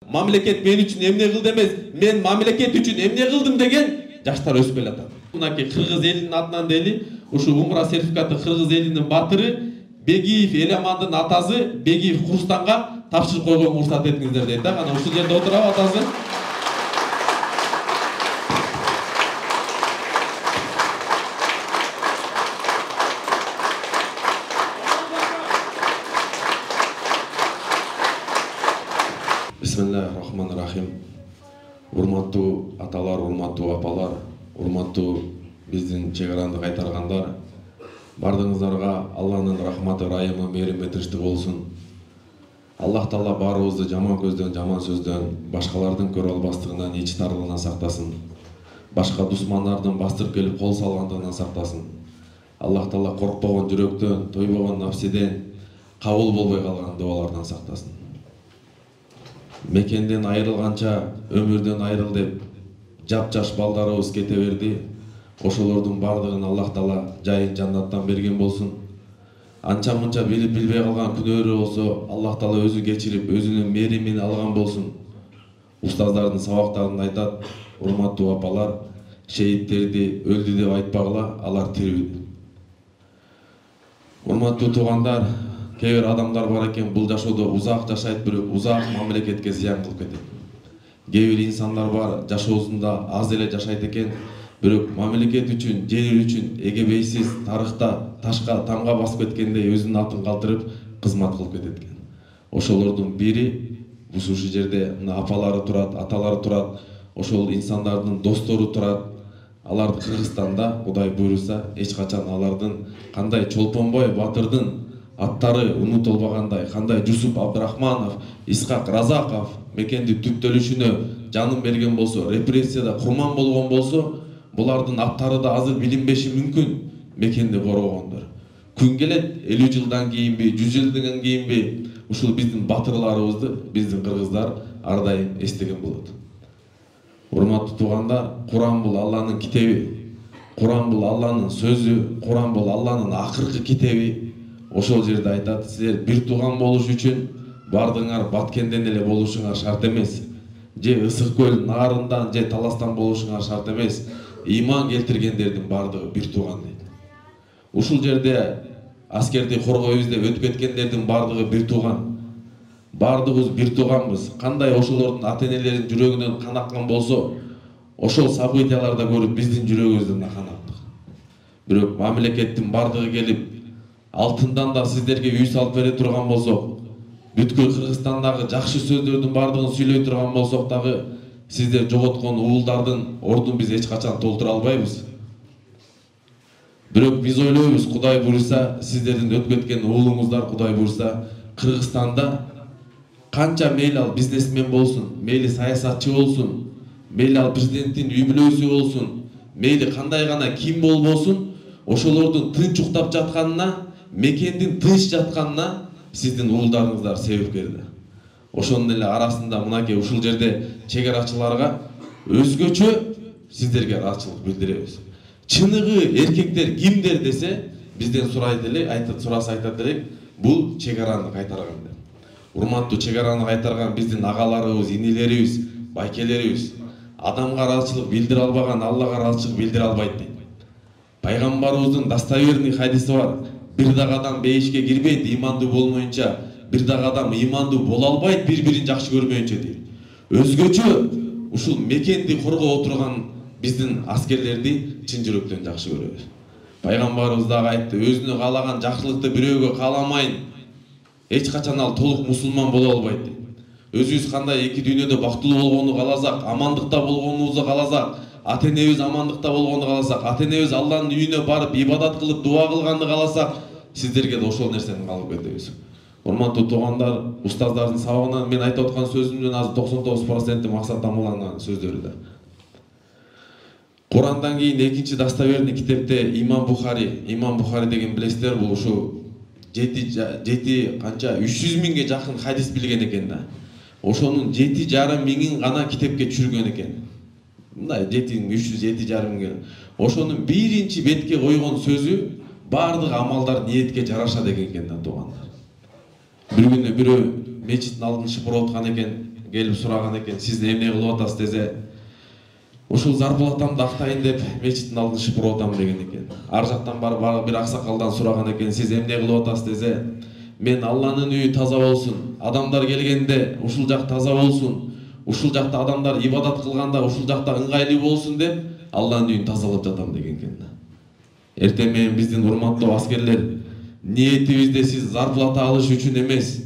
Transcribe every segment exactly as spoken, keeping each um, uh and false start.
Мамлекет мен үчүн эмне кылды эмес, мен мамлекет үчүн эмне кылдым деген жаштар өсүп келатат. Мынакей кыргыз элинин атынан дели ушу умра сертификаты кыргыз элинин батыры Бегиев Эламандын атасы Бегиев Курстанга тапшырып койгонго уруксат этиңиздер дейт да. Кана ушул жерде отурабы атасы? Бисмиллахир-рахманир-рахим. Урматтуу аталар, урматтуу апалар, урматтуу биздин чек аранды кайтаргандар, бардыгыңыздарга Алланын рахматы, райымы, мээрими тынчтык болсун. Аллах Таала баарыбызды жаман көздөн, жаман сөздөн, башкалардын көрө албастыгынан, ич тарлыгынан сактасын. Башка душмандардын бастырып келип кол салгандыгынан сактасын. Аллах Таала коркпогон жүрөктөн, тойбогон нафсиден, кабыл болбой калган дубалардан сактасын. Мекенден айрылганча өмүрдөн айрыл деп жап-жаш балдарыбыз кете берди. Ошолордун бардыгын Аллах Таала жайын жаннаттан берген болсун. Анча-мынча билип билбей калган күнөөрү болсо Аллах Таала өзү кечирип, өзүнүн мээримин алган болсун. Устаздардын сабактарында айтат: урматтуу апалар, шейттерди өлдү деп айтпагыла, алар тирүү. Урматтуу туугандар, кээ бир адамдар бар экен, бул жашоодо узак жашайт, бирок узак мамлекетке зыян кылып кетет. Кээ бир инсандар бар, жашоосунда аз эле жашайт экен, бирок мамлекет үчүн, жер үчүн эгебейсиз тарыхта ташка тамга басып кеткендей өзүнүн атын калтырып кызмат кылып кетет экен. Ошолордун бири ушул жерде мына апалары турат, аталары турат, ошол инсандардын достору турат. Алар Кыргызстанда Кудай буйруса эч качан алардын кандай Чолпонбой батырдын аттары унутулбагандай, кандай Жусуп Абдрахманов, Исхак Разаков мекенди түптөлүшүнө жанын берген болсо, репрессияда курман болгон болсо, булардын аттары да азыр билинбеши мүмкүн. Мекенди коргогондор. Күн келет элүү жылдан кийинби, жүз жылдан кийинби ушул биздин батырларыбызды биздин кыргыздар ар дайым эстеген болот. Урматтуу туугандар, Куран бул Алланын китеби. Куран бул Алланын сөзү, Куран бул Алланын акыркы китеби. Ошол жерде айтат: силер бир тууган болуш үчүн бардыңар Баткенден эле болушуңар шарт эмес. Же Ысык көл наарындан, же Таластан болушуңар шарт эмес. Ыйман келтиргендердин бардыгы бир тууган дейт. Ушул жерде аскерди коргойбуз деп өтүп кеткендердин бардыгы бир тууган. Бардыгыбыз бир тууганбыз. Кандай ошолордун ата-энелеринин жүрөгүнөн кан аккан болсо, ошол событияларда көрүп биздин жүрөгүбүздөн да кан акты. Бирок мамлекеттин бардыгы келип алтындан да сиздерге үй салып бере турган болсок, бүткүл Кыргызстандагы жакшы сөздөрдүн бардыгын сүйлөй турган болсок дагы, сиздер жоготкон уулдардын ордун биз эч качан толтура албайбыз. Бирок биз ойлойбуз, Кудай буйруса, сиздердин өтүп кеткен уулуңуздар Кудай буйруса Кыргызстанда канча мейли ал бизнесмен болсун, мейли саясатчы болсун, мейли ал президенттин үй бүлөсү болсун, мейли кандай гана ким болбосун, ошолордун тынч уктап жатканына, мекендин тынч жатканына сиздин уулдарыңыздар себепкер. Ошонун эле арасында мынакей ушул жерде чек арачыларга өзгөчө сиздерге ыраазычылык билдиребиз. Чыныгы эркектер кимдер десе, бизден сурайт эле, айтат, сураса айтат элек, бул чек араны кайтарган деп. Урматтуу чек араны кайтарган биздин агаларыбыз, инилерибиз, байкелерибиз адамга ыраазычылык билдире албаган Аллага ыраазычылык билдире албайт дейт. Пайгамбарыбыздын достоверный хадиси бар: бир дагы адам бейишке кирбейт ыймандуу болмоюнча, бир дагы адам ыймандуу боло албайт бири-бирин жакшы көрмөйүнчө дейт. Өзгөчө ушул мекенди коргоп отурган биздин аскерлерди чын жүрөктөн жакшы көрөбүз. Пайгамбарыбыз дагы айтты: өзүнө каалаган жакшылыкты бирөөгө кааламайын, эч качан ал толук мусулман боло албайт дейт. Өзүбүз кандай эки дүйнөдө бактылуу болгону кааласак, амандыкта болгонубузду кааласак, ата-энебиз амандыкта болгонду кааласак, ата-энебиз Алланын үйүнө барып ибадат кылып дуа кылганды кааласак, сиздерге да ошол нерсени каалап кетебиз. Урматтуу туугандар, устаздардын сабагынан мен айтып аткан сөзүмдүн азыр токсон тогуз проценти максат тамыланган сөздөрү да. Курандан кийин экинчи достоверный китепте Имам Бухари, Имам Бухари деген билесиздер, бул ушу жети жети канча үч жүз миңге жакын хадис билген экен да. Ошонун жети жарым миңин гана китепке түшүргөн экен. Мындай жети үч жүз жети жарым миң. Ошонун биринчи бетке койгон сөзү бардык амалдар ниетке жараша деген экен да туугандар. Бир күнү бирөө мечиттин алдын шыпырып аткан экен, келип сураган экен, сиз эмне кылып атасыз десе, ушул зарплатамды актайын деп мечиттин алдын шыпырып атам деген экен. Ар жактан барып бир аксакалдан сураган экен, сиз эмне кылып атасыз десе, мен Алланын үйү таза болсун, адамдар келгенде ушул жак таза болсун, ушул жакта адамдар ибадат кылганда ушул жакта ыңгайлуу болсун деп Алланын үйүн тазалап жатам деген экен. Эртең менен биздин урматтуу аскерлер, ниетибизде сиз зарплата алыш үчүн эмес,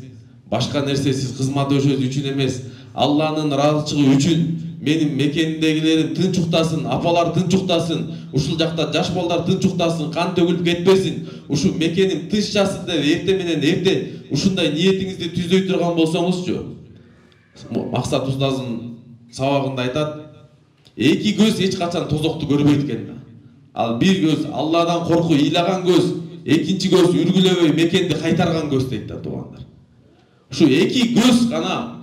башка нерсе сиз кызмат өшөш үчүн эмес, Алланын ыраазычылыгы үчүн менин мекендегилерим тынч уктасын, апалар тынч уктасын, ушул жакта жаш балдар тынч уктасын, кан төгүлүп кетпесин, ушул мекеним тынччасын деп эрте менен эрте ушундай ниетиңизди түзөй турган болсоңузчу, Максат устазын сабагында айтат, эки көз эч качан тозокту көрбөйт экен. Ал бир көз Алладан корку ыйлаган көз, экинчи көз үргүлөбөй мекенди кайтарган көз дейт да туугандар. Ушу эки көз гана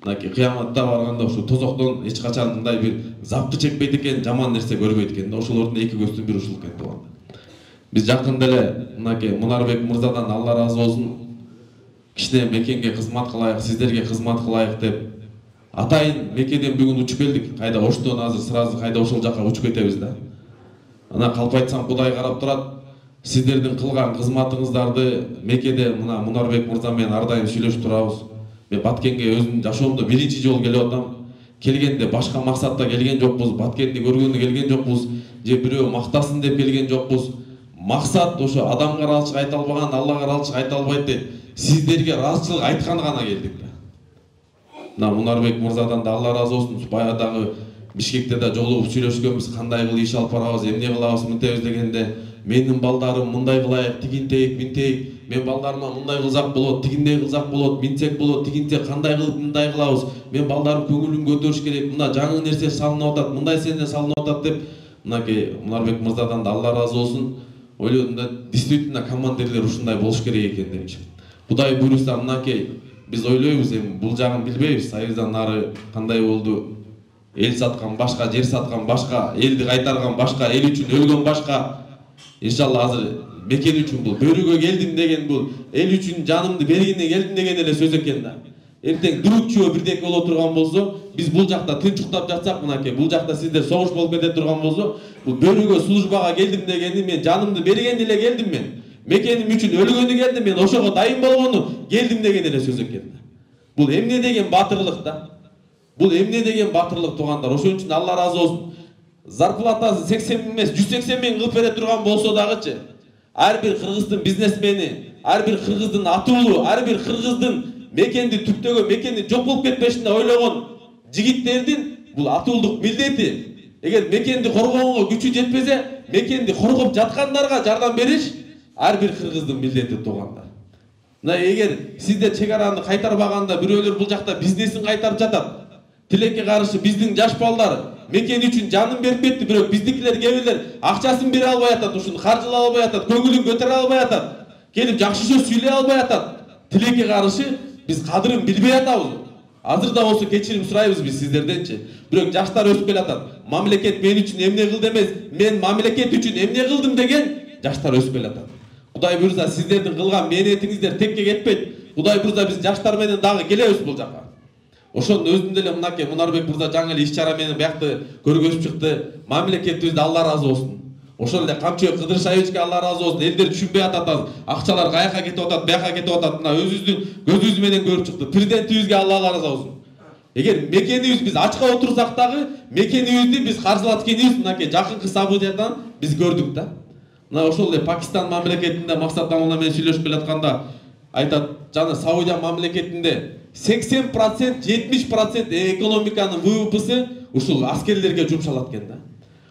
мынакей кыяматта барганда ушу тозоктон эч качан мындай бир запты чекпейт экен, жаман нерсе көрбөйт экен да. Ошолордун эки көздүн бири ушул экен туугандар. Биз жакында эле мынакей Мунарбек мырзадан Алла ыраазы болсун, кичине мекенге кызмат кылайык, сиздерге кызмат кылайык деп атайын мекеден бүгүн учуп келдик. Кайда Оштон азыр сразу кайда ошол жака учуп кетебиз да. Ана калп айтсам Кудай карап турат. Сиздердин кылган кызматыңыздарды мекеде мына Мунарбек мырза менен ар дайым сүйлөшүп турабыз. Мен Баткенге өзүм жашоомдо биринчи жолу келип атам. Келгенде башка максатта келген жокпуз, Баткенди көргөнгө келген жокпуз, же бирөө мактасын деп келген жокпуз. Максат ошо адамга ыраазычылык айта албаган, Аллага ыраазычылык айта албайт деп сиздерге ыраазычылык айтканы гана келдик да. Мына Мунарбек мырзадан да Алла ыраазы болсун, баягы Бишкекте да жолугуп сүйлөшкөнбүз, кандай кылып иш алып барабыз, эмне кылабыз, мынтебиз дегенде, менин балдарым мындай кылайык, тигинтейик, минтейик, мен балдарыма мындай кылсак болот, тигиндей кылсак болот, минтсек болот, тигинтек кандай кылып мындай кылабыз, мен балдарым көңүлүн көтөрүш керек, мына жаңы нерсе салынып атат, мындай сене салынып атат деп, мынакей Мунарбек мырзадан да Алла ыраазы болсун, ойлодум да, действительно командирлер ушундай болуш керек экен депчи. Кудай буйруса мынакей биз ойлойбуз, эми бул жагын билбейбиз, Союздан нары кандай болду, эл саткан башка, жер саткан башка, элди кайтарган башка, эл үчүн өлгөн башка. Иншалла азыр мекен үчүн бул, бөрүгө келдим деген бул, эл үчүн жанымды бергенде келдим деген эле сөз экен да. Эртең дүрүкчү бирдеке боло турган болсо, биз бул жакта тынч уктап жатсак, мынакей бул жакта сиздер согуш болуп кете турган болсо, бул бөрүгө службага келдим дегени, мен жанымды бергенде эле келдим мен. Мекеним үчүн өлгөнү келдим, мен ошого дайын болгону келдим деген эле сөз экен. Бул эмне деген батырлык да. Бул эмне деген батырлык туугандар. Ошон үчүн Алла ыраазы болсун. Зарплатасы сексен эмес, жүз сексен миң кылып бере турган болсо дагычы, ар бир кыргыздын бизнесмени, ар бир кыргыздын атуулу, ар бир кыргыздын мекенди түптөгөн, мекенди жок болуп кетпешин деп ойлогон жигиттердин бул атуулдук милдети. Эгер мекенди коргоого күчү жетпесе, мекенди коргоп жаткандарга жардам бериш ар бир кыргыздын милдети туугандар. Мына эгер сиздер чек араны кайтарбаганда бирөөлөр бул жакта бизнесин кайтарып жатат. Тилекке каршы биздин жаш балдар мекен үчүн жанын берип кетти, бирок биздикилер кээ бирлер акчасын бере албай атат, ушуну каржылай албай атат, көңүлүн көтөрө албай атат, келип жакшы сөз сүйлөй албай атат. Тилекке каршы биз кадырын билбей атабыз. Азыр да болсо кечирим сурайбыз биз сиздерденчи. Бирок жаштар өсүп келатат. Мамлекет мен үчүн эмне кылды эмес, мен мамлекет үчүн эмне кылдым деген жаштар өсүп келатат. Кудай буйруса сиздердин кылган мээнетиңиздер текке кетпейт. Кудай буйруса биз жаштар менен дагы келебиз бул жака. Ошондун өзүндө эле мынакей Мунарбек мырза жаңы эле иш чара менен биякты көргөзүп чыкты. Мамлекетибизде Алла ыраазы болсун. Ошол эле Камчыбек Кыдыршаевичке Алла ыраазы болсун. Элдер түшүнбөй атат азыр. Акчалар каяка кетип атат, бияка кетип атат. Мына өзүбүздүн көзүбүз менен көрүп чыкты. Президентибизге Алла ыраазы болсун. Эгер мекенибиз биз ачка отурсак дагы, мекенибизди биз каржылаткенибиз мынакей жакынкы событиядан биз көрдүк да. Мына ошол эле Пакистан мамлекетинде Максат Амуна менен сүйлөшүп келатканда айтат, жана Саудия мамлекетинде сексен процент, жетимиш процент экономиканын вэ вэ пэси ушул аскерлерге жумшалат экен да.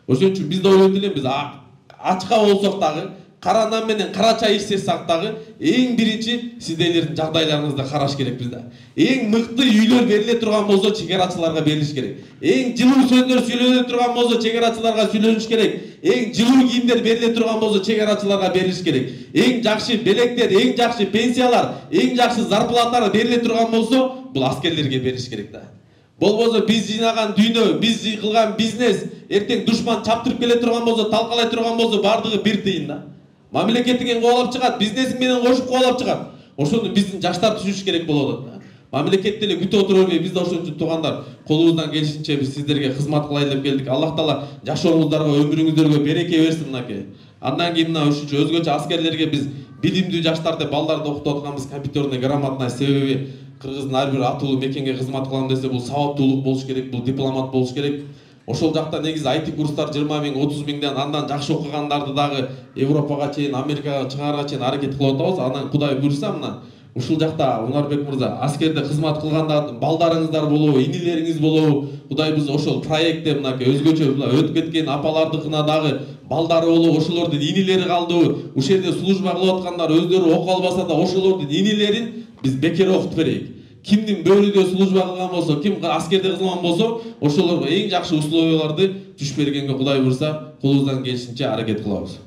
Ошон үчүн биз да ойлойт элем, биз ачка болсок дагы, кара нан менен кара чай ичсек дагы, эң биринчи сиздердин жагдайларыңызды караш керекпиз да. Эң мыкты үйлөр бериле турган болсо чегарачыларга берилиш керек. Эң жылуу сөздөр сүйлөнө турган болсо чегарачыларга сүйлөнүш керек. Эң жылуу кийимдер бериле турган болсо чегарачыларга берилиш керек. Эң жакшы белектер, эң жакшы пенсиялар, эң жакшы зарплаталар бериле турган болсо бул аскерлерге берилиш керек да. Болбосо биз жыйнаган дүйнө, биз кылган бизнес эртең душман чаптырып келе турган болсо, талкалай турган болсо бардыгы бир тыйын да. Мамлекетиңен кубалап чыгат, бизнесиң менен кошуп кубалап чыгат. Ошону биздин жаштар түшүнүш керек болуп атат да. Мамлекет деле күтүп отура бербей, биз да ошон үчүн туугандар колубуздан келишинче биз сиздерге кызмат кылайлы деп келдик. Аллах таала жашооңуздарга, өмүрүңүздөргө береке берсин мынакей. Андан кийин мына ушунчу өзгөчө аскерлерге биз билимдүү жаштарды, балдарды окутуп атканбыз, компьютерный грамотность. Себеби кыргыздын ар бир атуулуу мекенге кызмат кылам десе, бул сабаттуулук болуш керек, бул дипломат болуш керек. Ошол жакта негизи ай ти курстар жыйырма миң, отуз миңден андан жакшы окугандарды дагы Европага чейин, Америкага чыгарга чейин аракет кылып атабыз. Анан Кудай буйрса мына ушул жакта Унарбек мырза аскерде кызмат кылганда балдарыңыздар болобу, инилериңиз болобу, Кудай биз ошол проектте мынакей өзгөчө өтүп кеткен апалардыкына дагы балдары болобу, ошолордун инилери калдыбы, ушул жерде служба кылып аткандар өздөрү окуп албаса да ошолордун инилерин биз бекер окутуп берейик. Кимдин бөлүдө служба кылган болсо, ким аскерде кылган болсо, ошолорго эң жакшы условияларды түш бергенге Кудай буйрса колубуздан келишинче аракет кылабыз.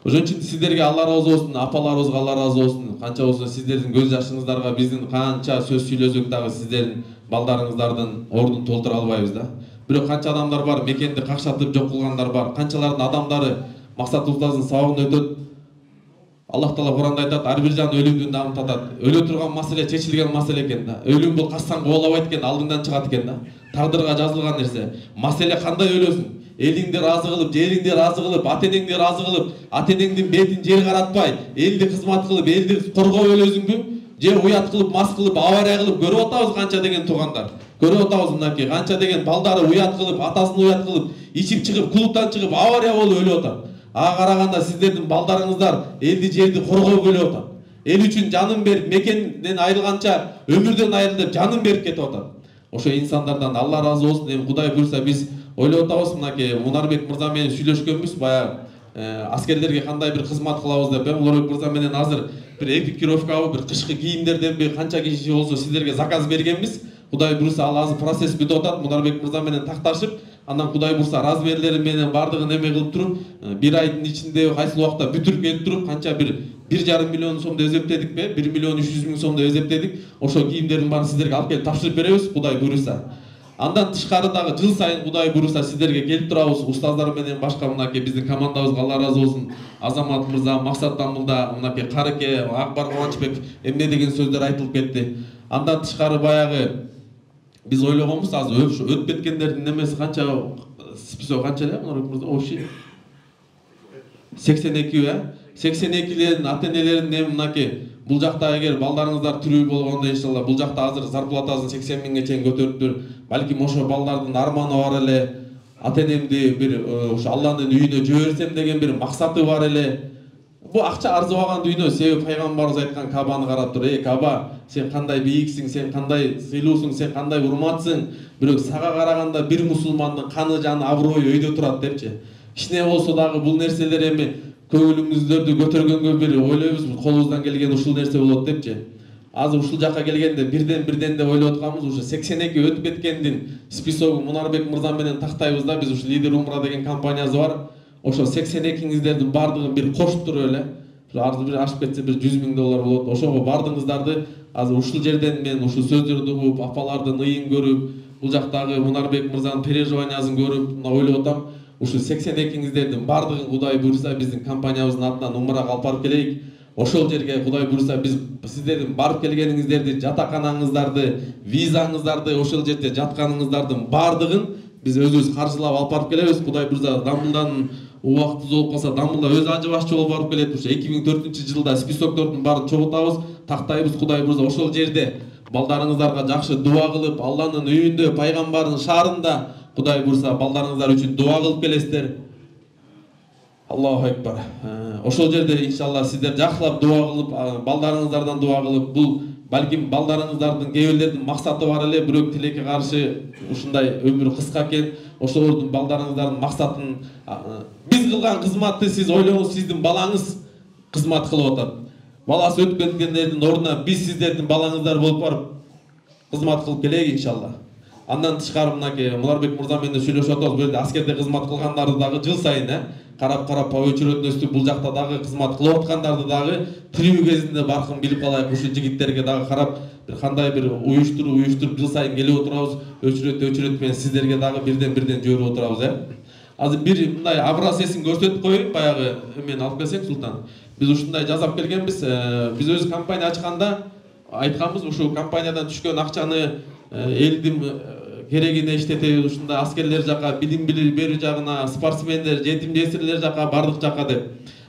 Ошон үчүн сиздерге Алла ыраазы болсун, апаларыбызга Алла ыраазы болсун. Канча болсо сиздердин көз жашыңыздарга биздин канча сөз сүйлөсөк дагы сиздердин балдарыңыздардын ордун толтура албайбыз да. Бирок канча адамдар бар, мекенди какшатып жок кылгандар бар. Канчалардын адамдары максат устазынын сабагын өтөт. Аллах таала Куранда айтат, ар бир жан өлүмдүн дамын татат. Өлө турган маселе чечилген маселе экен да. Өлүм бул кастан кубалабайт экен, алдыңдан чыгат экен да. Тагдырга жазылган нерсе. Маселе кандай өлөсүң? Элиңди ыраазы кылып, жериңди ыраазы кылып, ата энеңди ыраазы кылып, ата энеңдин бетин жер каратпай, элди кызмат кылып, элди коргоп өлөсүңбү? Же уят кылып, мас кылып, авария кылып көрүп атабыз канча деген туугандар. Көрүп атабыз мынакей канча деген балдары уят кылып, атасын уят кылып, ичип чыгып, клубтан чыгып, авария болуп өлүп атат. Ага караганда сиздердин балдарыңыздар элди жерди коргоп өлүп атат. Эл үчүн жанын берип, мекенден айрылганча өмүрдөн айрыл деп жанын берип кетип атат. Ошо инсандардан Алла ыраазы болсун. Эми Кудай буйрса биз ойлоп атабыз мынакей Унарбек мырза менен сүйлөшкөнбүз баягы аскерлерге кандай бир кызмат кылабыз деп. Эми Унарбек мырза менен азыр бир экипировкабы, бир кышкы кийимдерденби канча киши болсо сиздерге заказ бергенбиз. Кудай буйрса ал азыр процесс бүтүп атат. Унарбек мырза менен такташып, андан Кудай буйрса размерлери менен бардыгын эме кылып туруп, бир айдын ичинде кайсыл убакта бүтүрүп келип туруп, канча бир бир жарым миллион сомду эзептедикпи, бир миллион үч жүз миң сомду эзептедик. Ошо кийимдердин баарын сиздерге алып келип тапшырып беребиз, Кудай буйрса. Андан тышкары дагы жыл сайын Кудай буйрса сиздерге келип турабыз. Устаздар менен башка мынакей биздин командабызга Алла ыраазы болсун. Азамат мырза, Максат Тамылда, мынакей Карыке, Акбар Кубанычбек эмне деген сөздөр айтылып кетти. Андан тышкары баягы биз ойлогонбуз, азыр өтүп кеткендердин немеси канча, список канча эле Унарбек мырза? Общий сексен эки э? сексен экилердин ата энелерин эми мынакей бул жакта эгер балдарыңыздар тирүү болгондо иншалла бул жакта азыр зарплатасын сексен миңге чейин көтөрүптүр. Балким ошо балдардын арманы бар эле. Ата энемди бир ошо Алланын үйүнө жиберсем деген бир максаты бар эле. Бу акча арзыбаган дүйнө. Себеби пайгамбарыбыз айткан Кабаны карап туруп, "Эй Каба, сен кандай бийиксиң, сен кандай сыйлуусуң, сен кандай урматсың. Бирок сага караганда бир мусулмандын каны, жаны, аброю өйдө турат" депчи. Кичине болсо дагы бул нерселер эми көңүлүңүздөрдү көтөргөнгө бир ойлойбуз, колубуздан келген ушул нерсе болот депчи. Азыр ушул жакка келгенде бирден бирден деп ойлоп атканбыз, ушу сексен эки өтүп кеткендин списогун Унарбек мырза менен тактайбыз да. Биз ушу Лидер Умра деген компаниясы бар. Ошо сексен экиңиздердин бардыгын бир кошуп туруп эле, арзы бир ашып кетсе бир жүз миң доллар болот. Ошого бардыгыңыздарды азыр ушул жерден мен ушул сөздөрдү угуп, апалардын ыйын көрүп, бул жактагы Унарбек мырзанын переживаниясын көрүп, мына ойлоп атам. Ушул сексен экиңиздердин бардыгын Кудай буйрса биздин компаниябыздын атынан умрага алып барып келейик. Ошол жерге Кудай буйрса биз сиздердин барып келгениңиздерди, жатаканаңыздарды, визаңыздарды, ошол жерде жатканыңыздардын бардыгын биз өзүбүз каржылап алып барып келебиз. Кудай буйрса Дамбылдан убактыбыз болуп калса, Дамбылда өзү ажы башчы болуп барып келет. Ошо эки миң төртүнчү жылда списоктордун баарын чогултабыз, тактайбыз. Кудай буйрса ошол жерде балдарыңыздарга жакшы дуа кылып, Алланын үйүндө, пайгамбардын шаарында Кудай буйрса балдарыңыздар үчүн дуа кылып келесиздер. Аллаху акбар. Ошол жерде иншалла сиздер жакшылап дуа кылып, балдарыңыздардан дуа кылып, бул балким балдарыңыздардын кээ бирлердин максаты бар эле, бирок тилекке каршы ушундай өмүр кыска экен. Ошолордун балдарыңыздардын максатын биз кылган кызматты сиз ойлоңуз, сиздин балаңыз кызмат кылып атат. Баласы өтүп кеткендердин ордуна биз сиздердин балаңыздар болуп барып кызмат кылып келейик иншалла. Андан тышкары мынакей Унарбек мырза менен сүйлөшүп атабыз. Бул жерде аскерде кызмат кылгандарды дагы жыл сайын э карап-карап по очередности бул жакта дагы кызмат кылып аткандарды дагы тирүү кезинде баркын билип калайык. Ушул жигиттерге дагы карап бир кандай бир уюштуруп, уюштуруп жыл сайын келип отурабыз. Өчүрөт өчүрөт менен сиздерге дагы бирден бирден жиберип отурабыз э. Азыр бир мындай образцесин көрсөтүп коеюн, баягы эмени алып келсең Султан. Биз ушундай жасап келгенбиз. Биз өз компания ачканда айтканбыз, ушул компаниядан түшкөн акчаны элдин керегине иштетебиз, ушундай аскерлер жака, билим берүү жагына, спортсмендер, жетим жесирлер жака, бардык жака деп.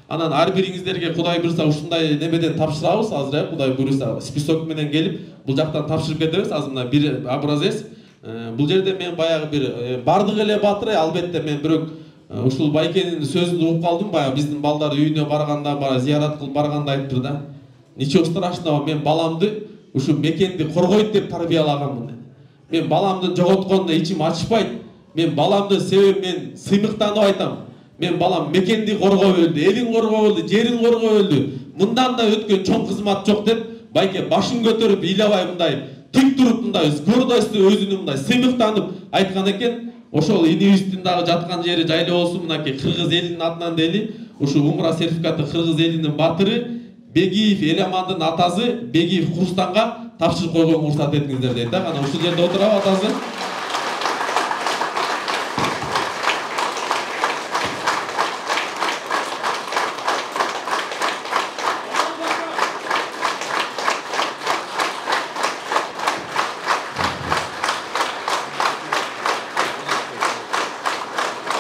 Анан ар бириңиздерге Кудай буйруса ушундай немеден тапшырабыз азыр, э, Кудай буйруса список менен келип, бул жактан тапшырып кетебиз. Азыр мына бир образец. Бул жерде мен баягы бир бардык эле батыр, албетте мен бирок ушул байкенин сөзүн угуп калдым, баягы биздин балдар үйүнө барганда, бара зыярат кылып барганда айтты да. Ничего страшного, мен баламды ушу мекенди коргойт деп тарбиялаганмын. Мен баламды жоготконда ичим ачышпайт. Мен баламды себеп мен сыймыктанып айтам. Мен балам мекенди коргоп өлдү, элин коргоп өлдү, жерин коргоп өлдү. Мындан да өткөн чоң кызмат жок деп байке башын көтөрүп, ыйлабай мындай тик туруп, мындай гордость өзүнүн мындай сыймыктанып айткан экен. Ошол инибиздин дагы жаткан жери жайлуу болсун, мынакей кыргыз элинин атынан дели ушу умра сертификаты кыргыз элинин батыры Бегиев Эламандын атасы Бегиев Курстанга тапшырып койгонго уруксат этиңиздер дейт да. Кана ушул жерде отурабы атасы.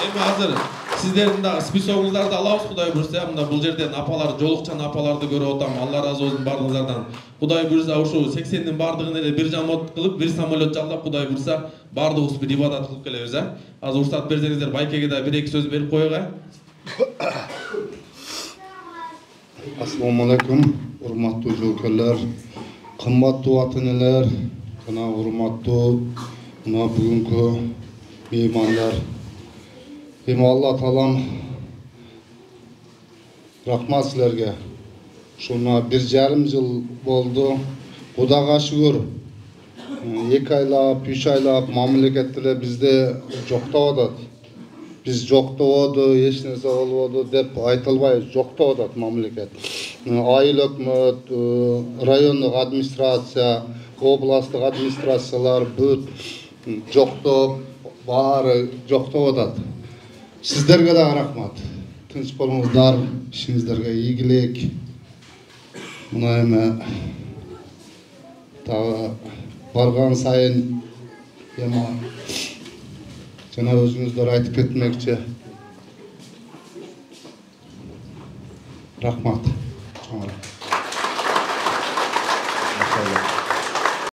Эми азыр сиздердин дагы списогуңуздарды алабыз, Кудай буйруса. Мында бул жерден апалар, жолукчан апаларды көрүп атам. Алла разы болсун бардыгыңыздардан. Кудай буйруса ушу сексендин бардыгын эле бир жамот кылып, бир самолет жалдап, Кудай буйруса бардыгыбыз бир ибадат кылып келебиз, э. Азыр уруксат берсеңиздер, байкеге да бир эки сөз берип коелу, э. Ассаламу алейкум, урматтуу жоокерлер, кымбаттуу ата-энелер, жана урматтуу мына бүгүнкү меймандар. Эми Алла таалам рахмат силерге. Ушуна бир жарым жыл болду. Кудайга шүгүр. эки айлап, үч айлап мамлекет деле бизди жоктоп атат. Биз жоктободу, эч нерсе болбоду деп айтылбай жоктоп атат мамлекет. Айыл өкмөт, райондук администрация, областтык администрациялар бүт жоктоп, баары жоктоп атат. Сиздерге дагы рахмат. Тынч болуңуздар, ишиңиздерге ийгилик. Мына эми дагы барган сайын эми жана өзүңүздөр айтып кетмекчи. Рахмат.